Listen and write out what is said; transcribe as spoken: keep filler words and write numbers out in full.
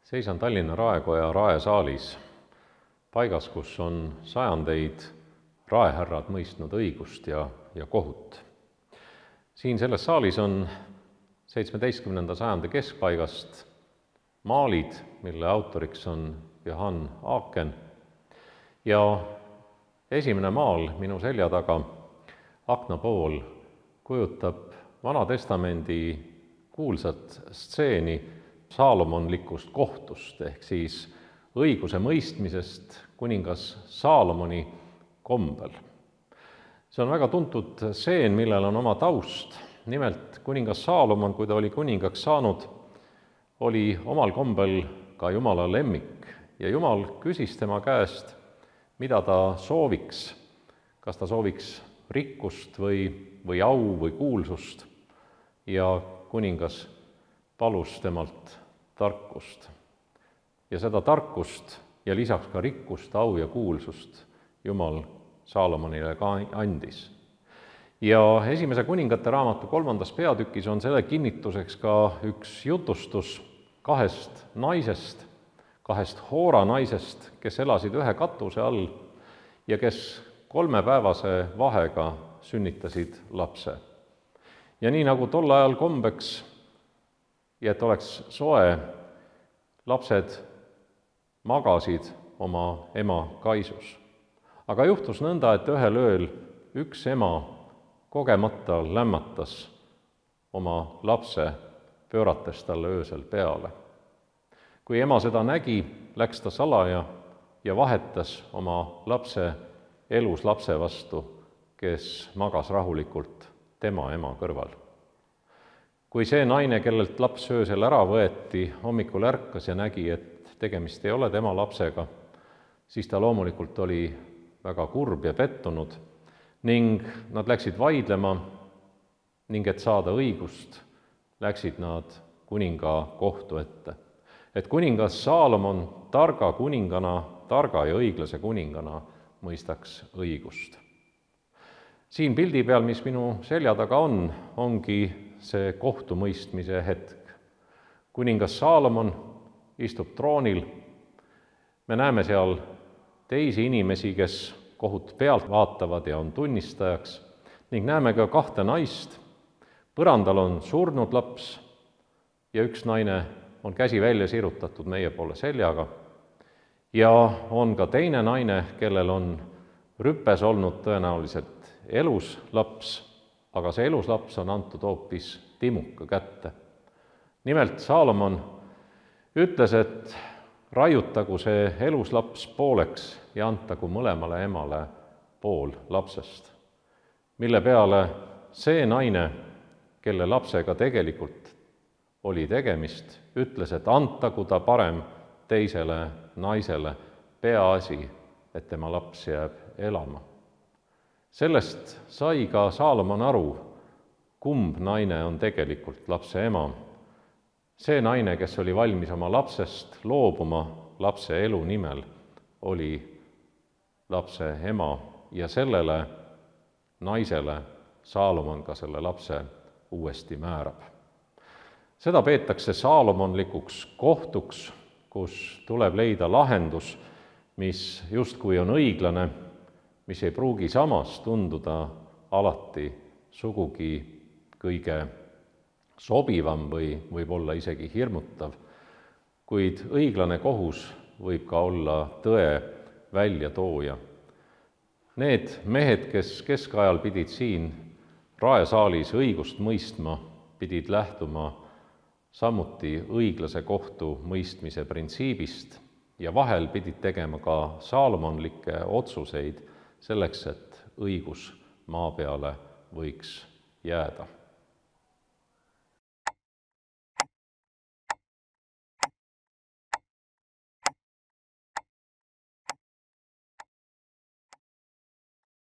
Seisan Tallinna Raekoja raesaalis, paigas, kus on sajandeid raehärrad mõistnud õigust ja, ja kohut. Siin selles saalis on seitsmeteistkümnenda sajandi keskpaigast maalid, mille autoriks on Johann Aaken. Ja esimene maal minu selja taga, akna pool, kujutab Vana Testamendi kuulsat stseeni saalomonlikust kohtust ehk siis õiguse mõistmisest kuningas Saalomoni kombel. See on väga tuntud stseen, millel on oma taust. Nimelt kuningas Saalomon, kui ta oli kuningaks saanud, oli omal kombel ka Jumala lemmik ja Jumal küsis tema käest, mida ta sooviks, kas ta sooviks rikkust või, või au või kuulsust, ja kuningas palus temalt tarkust. Ja seda tarkust ja lisaks ka rikkust, au ja kuulsust Jumal Saalomonile ka andis. Ja esimese kuningate raamatu kolmandas peatükis on selle kinnituseks ka üks jutustus kahest naisest, kahest Hoora naisest, kes elasid ühe katuse all ja kes kolmepäevase vahega sünnitasid lapse. Ja nii nagu tol ajal kombeks, ja et oleks soe, lapsed magasid oma ema kaisus. Aga juhtus nõnda, et ühel ööl üks ema kogemata lämmatas oma lapse, pöörates talle öösel peale. Kui ema seda nägi, läks ta salaja ja vahetas oma lapse elus lapse vastu, kes magas rahulikult tema ema kõrval. Kui see naine, kellelt laps öösel ära võeti, hommikul ärkas ja nägi, et tegemist ei ole tema lapsega, siis ta loomulikult oli väga kurb ja pettunud ning nad läksid vaidlema ning et saada õigust, läksid nad kuninga kohtu ette. Et kuningas Saalomon targa kuningana, targa ja õiglase kuningana mõistaks õigust. Siin pildi peal, mis minu selja taga on, ongi see kohtumõistmise hetk. Kuningas Saalomon istub troonil. Me näeme seal teisi inimesi, kes kohut pealt vaatavad ja on tunnistajaks, ning näeme ka kahte naist. Põrandal on surnud laps ja üks naine on käsi välja sirutatud meie poole seljaga. Ja on ka teine naine, kellel on rüpes olnud tõenäoliselt elus laps, aga see elus laps on antud hoopis timuka kätte. Nimelt Saalomon ütles, et raiutagu see elus laps pooleks ja antagu mõlemale emale pool lapsest. Mille peale see naine, kelle lapsega tegelikult oli tegemist, ütles, et antagu ta parem teisele naisele, peaasi, et tema laps jääb elama. Sellest sai ka Saalomon aru, kumb naine on tegelikult lapse ema. See naine, kes oli valmis oma lapsest loobuma lapse elu nimel, oli lapse ema ja sellele naisele Saalomon ka selle lapse uuesti määrab. Seda peetakse saalomonlikuks kohtuks, kus tuleb leida lahendus, mis justkui on õiglane, mis ei pruugi samas tunduda alati sugugi kõige sobivam või võib olla isegi hirmutav, kuid õiglane kohus võib ka olla tõe väljatooja. Need mehed, kes keskajal pidid siin raesaalis õigust mõistma, pidid lähtuma samuti õiglase kohtu mõistmise printsiibist ja vahel pidid tegema ka saalomonlikke otsuseid selleks, et õigus maa peale võiks jääda.